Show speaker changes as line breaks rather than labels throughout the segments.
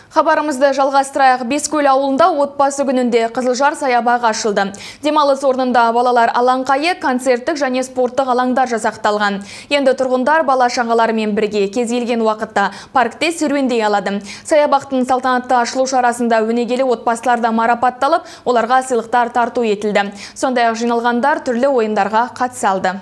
Хабарымызды жалғастырайық. Бескөл ауылында отбасы күнінде Қызылжар саябағы ашылды. Демалыс орнында балалар алаңқайы, концерттік және спорттық алаңдар жасақталған. Енді тұрғындар бала-шағаларымен бірге кез келген уақытта паркте серуендей алады. Саябақтың салтанатты ашылу шарасында өнегелі отбасылар да марапатталып, оларға сыйлықтар тарту етілді. Сондай-ақ жиналғандар түрлі ойындарға қатыса алды.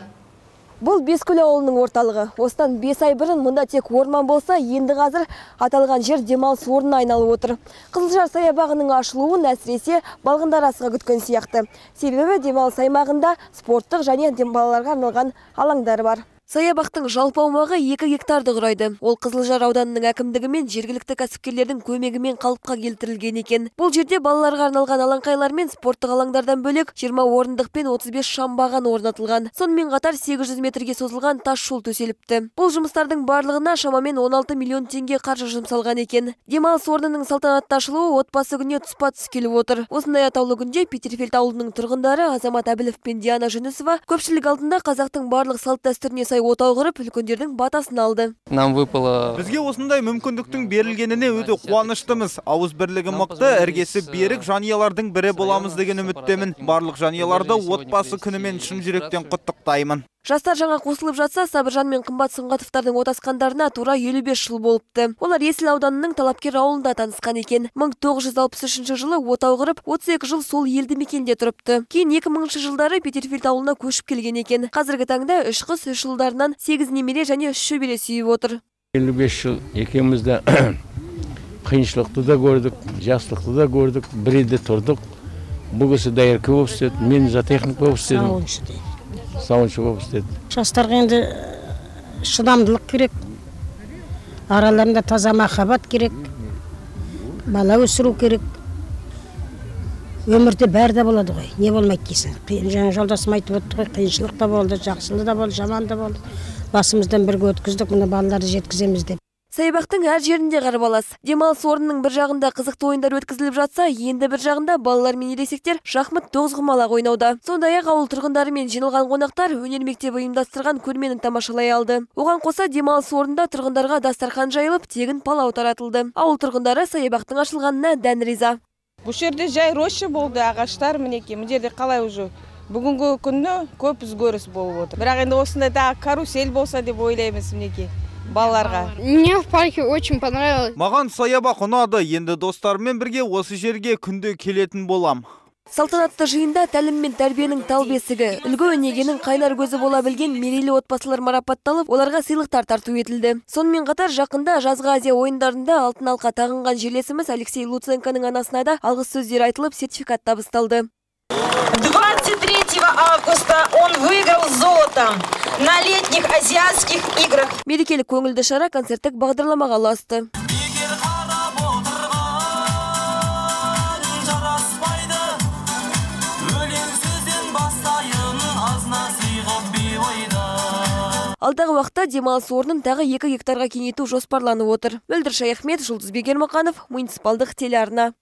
Бұл Бескөл ауылының орталығы. Осыдан 5 ай бұрын мұнда тек орман болса, енді қазір аталған жер демалыс орнына айналып отыр. Қызылжар саябағының ашылуын әсіресе балғындар асыға күткен сияқты. Себебі демалыс аймағында спорттық және балаларға арналған алаңдар бар. Саябақтың жалпы аумағы 2 гектарды құрайды. Ол Қызылжар ауданының әкімдігі мен жергілікті кәсіпкерлердің көмегімен қалыпқа келтірілген екен. Бұл жерде балаларға арналған алаңқайлар мен спорттық алаңдардан бөлек 20 орындық пен 35 шамбаған орнатылған. Сонымен қатар 800 метрге созылған тас жол төселіпті. Бұл жұмыстардың барлығына шамамен 16 миллион теңге қаржы жұмсалған екен. Демалыс орнының салтанатты ашылуы отбасы күніне тұспа-тұс келіп отыр. Осындай атаулы күнде Петерфельд ауылының тұрғындары Азамат Әбілов пен Диана Жүнісова көпшілік алдында қазақтың барлық салт-дәстүріне отау құрып, үлкендердің батасын алды.
Бізге осындай мүмкіндіктің берілгеніне өте қуаныштымыз. Ауыз бірлігі мықты, іргесі берік жанұялардың бірі боламыз деген үміттемін. Барлық жанұяларды отбасы күнімен шын жүректен құттықтаймын.
Жастар жаңа қосылып жатса, Сабыржан мен Қымбат Сұңғатовтардың отасқандарына тура 55 жыл болыпты. Олар Есіл ауданының Талапкер ауылында танысқан екен. 1963 жылы отау құрып, 32 жыл сол елді мекенде тұрыпты. Кейін 2000 жылдары Петерфельд ауылына көшіп келген екен. Қазіргі таңда 3 қыз, 3 ұлдарынан 8 немере және 3 шөбере сүйіп отыр.
55 жыл екеумізді қиыншылықты да көрдік, жастықты да көрдік, бірде тұрдық. Бұл кісі дайыркі болып істеді, мен зоотехник болып істедім. Сауыншы болып істеді.
Жастарға енді шыдамдылық керек, араларында таза махаббат керек, бала өсіру керек. Өмірде бәрі де болады ғой, не болмайды дейсің. Жаңа жолдасым айтып өтті ғой, қиыншылық та болды, жақсылы да болды, жаман да болды. Басымыздан бірге өткіздік, мұны балаларды жеткіземіз деп.
Саябақтың әр жерінде қарбалас. Демалыс орнының бір жағында қызықты ойындар өткізіліп жатса, енді бір жағында балалар мен ересектер шахмат тоғызқұмалақ ойнауда. Сондай-ақ ауыл тұрғындары мен жиналған қонақтар өнер мектебі ұйымдастырған көрмені тамашалай алды. Оған қоса демалыс орнында тұрғындарға дастархан жайылып, тегін палау таратылды. Ауыл тұрғындары саябақтың ашылғанына дән риза.
Бұл жерде жай роща болды, ағаштар мінекей. Бұл жерде қалай уже бүгінгі күні көп өзгеріс болып отыр. Бірақ енді осындай тағы карусель болса деп ойлаймыз мінекей. Балаларға.
Мне в парке очень понравилось.
Маған саябақ ұнады. Енді достарыммен бірге осы жерге күнде келетін болам.
Салтанатты жиында тәлім мен тәрбиенің тал бесігі, үлгі өнегенің қайнар көзі бола білген мерейлі отбасылар марапатталып, оларға сыйлықтар тарту етілді. Сонымен қатар жақында жазғы Азия ойындарында алтын алқа тағынған жерлесіміз Алексей Луценконың анасына да алғыс сөздер айтылып, сертификат табысталды.
23 августа он выиграл золото на летних азиатских играх.
Мерекелік көңілді шара концерттік бағдарламаға ұласты. Алдағы уақытта демалыс орнын тағы 2 гектарға кеңейту жоспарланып отыр. Мөлдір Шаяхмет, Жұлдыз Бегермақанов, муниципалдық телеарна.